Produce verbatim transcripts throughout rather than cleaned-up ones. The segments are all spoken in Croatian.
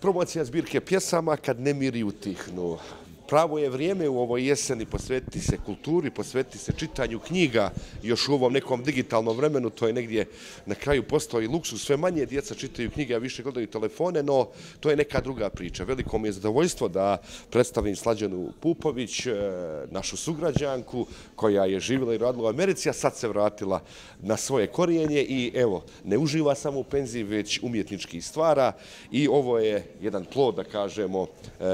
Promocija zbirke pjesama Kad nemiri utihnu. Pravo je vrijeme u ovoj jeseni posvetiti se kulturi, posvetiti se čitanju knjiga. Još u ovom nekom digitalnom vremenu to je negdje na kraju postao i luksuz. Sve manje djeca čitaju knjige, a više gledaju telefone, no to je neka druga priča. Veliko mi je zadovoljstvo da predstavim Slađanu Pupović, našu sugrađanku koja je živjela i radila u Americi, a sad se vratila na svoje korijenje i evo, ne uživa samo u penziji, već umjetnički stvara i ovo je jedan plod, da kažemo,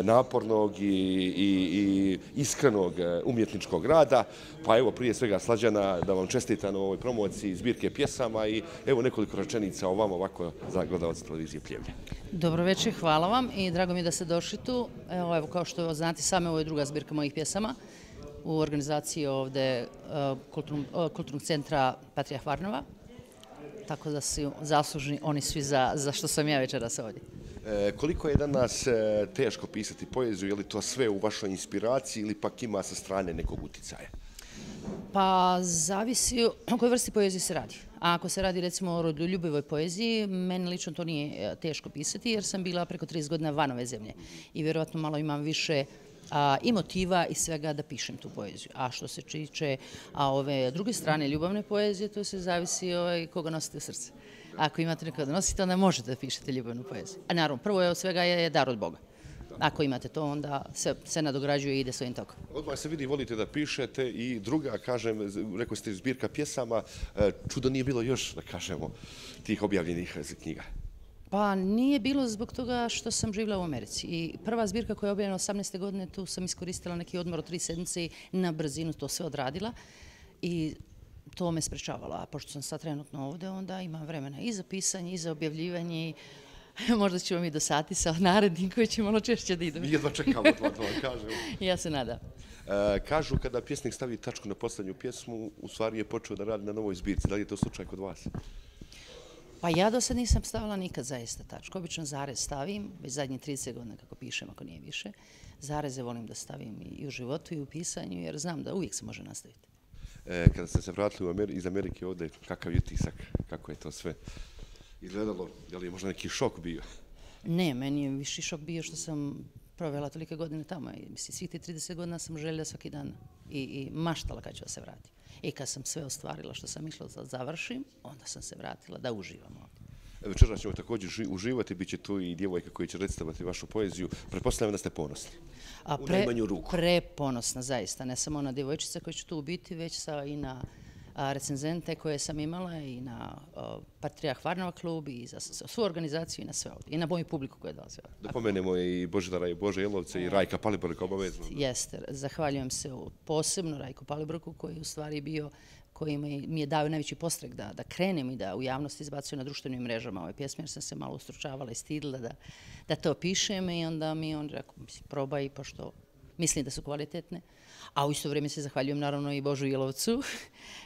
napornog i i iskrenog umjetničkog rada. Pa evo, prije svega, Slađana, da vam čestitam na ovoj promociji zbirke pjesama i evo nekoliko rečenica o vama ovako za gledalce televizije Pljevlja. Dobro večer, hvala vam i drago mi je da ste došli tu. Evo, evo kao što znate, same ovo je druga zbirka mojih pjesama u organizaciji ovde Kulturnog, kulturnog centra Patrijah Varnava. Tako da su zaslužni oni svi za, za što sam ja večeras ovdje. E, koliko je danas e, teško pisati poeziju? Je li to sve u vašoj inspiraciji ili pak ima sa strane nekog uticaja? Pa zavisi o kojoj vrsti poezije se radi. A ako se radi recimo o rodoljubivoj poeziji, meni lično to nije teško pisati jer sam bila preko trideset godina van ove zemlje i vjerovatno malo imam više a, i motiva i svega da pišem tu poeziju. A što se tiče a ove druge strane ljubavne poezije, to se zavisi ovaj, koga nosite u srce. Ako imate nekoga da nosite, onda možete da pišete ljubavnu poeziju. A naravno, prvo je od svega je dar od Boga. Ako imate to, onda se, se nadograđuje i ide svojim tokom. Odmah se vidi, volite da pišete i druga, kažem, rekao ste zbirka pjesama, čudo nije bilo još, da kažemo, tih objavljenih knjiga. Pa nije bilo zbog toga što sam živjela u Americi. I prva zbirka koja je objavljena osamnaeste godine, tu sam iskoristila neki odmor od tri sedmice i na brzinu to sve odradila. I to me sprečavalo, a pošto sam sad trenutno ovdje, onda imam vremena i za pisanje, i za objavljivanje, i možda ćemo mi dosaditi sa narednim koji će malo češće da idem. Mi jedva čekamo, to vam kažem. Ja se nadam. E, kažu kada pjesnik stavi tačku na posljednju pjesmu, u stvari je počeo da radi na novoj zbirci. Da li je to slučaj kod vas? Pa ja do sad nisam stavila nikad zaista tačku. Obično zarez stavim, već zadnje trideset godina kako pišem, ako nije više. Zareze volim da stavim i u životu i u pisanju, jer znam da uvijek se može nastaviti. E, kada ste se vratili Ameri iz Amerike ovdje, kakav je utisak, kako je to sve izgledalo? Je li je možda neki šok bio? Ne, meni je viši šok bio što sam provela tolike godine tamo. Mislim, svih ti trideset godina sam željela svaki dan i, i maštala kad ću da se vratim. I kad sam sve ostvarila što sam išla da završim, onda sam se vratila da uživam ovdje. Večeras ćemo također uživati, bit će tu i djevojka koja će recitovati vašu poeziju. Pretpostavljam da ste ponosni. A pre, u najmanju ruku. Preponosna, zaista. Ne samo na djevojčice koje će tu biti, već sa, i na a, recenzente koje sam imala i na a, Patrijah Varnava klub i za, za svu organizaciju i na sve ovdje. I na moju publiku koja dolazi ovdje. Da pomenemo i Božidara i Bože Jelovce i Rajka Palibroka obavezno. Jeste. Zahvaljujem se posebno Rajku Palibroku koji je u stvari bio koji mi je dao najveći postrek da, da krenem i da u javnosti izbacuju na društvenim mrežama ove pjesme, jer sam se malo ustručavala i stidila da, da to pišem i onda mi on rekao, mislim, probaj, pošto mislim da su kvalitetne. A u isto vrijeme se zahvaljujem naravno i Božu Jelovcu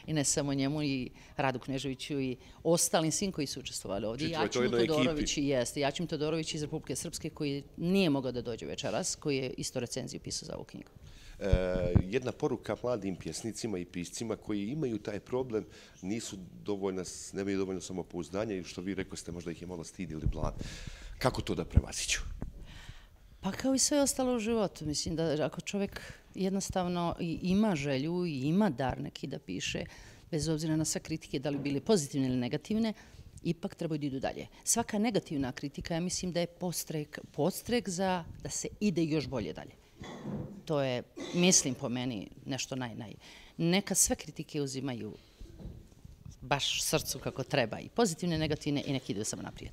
i ne samo njemu, i Radu Kneževiću i ostalim svim koji su učestvovali ovdje. Čitvo je to Jačim jednoj Todorović, jeste, Jačim Todorović iz Republike Srpske koji nije mogao da dođe večeras, koji je isto recenziju pisao za ovu knjigu. E, jedna poruka mladim pjesnicima i piscima koji imaju taj problem, nisu dovoljno, nemaju dovoljno samopouzdanja i što vi rekao ste, možda ih je malo stid ili blam. Kako to da prevaziću? Pa kao i sve ostalo u životu. Mislim da ako čovjek jednostavno ima želju i ima dar neki da piše, bez obzira na sve kritike, da li bile pozitivne ili negativne, ipak trebaju da idu dalje. Svaka negativna kritika, ja mislim da je postrek, postrek za da se ide još bolje dalje. To je, mislim po meni, nešto naj, naj. Neka sve kritike uzimaju baš srcu kako treba, i pozitivne, negativne, i neki idu samo naprijed.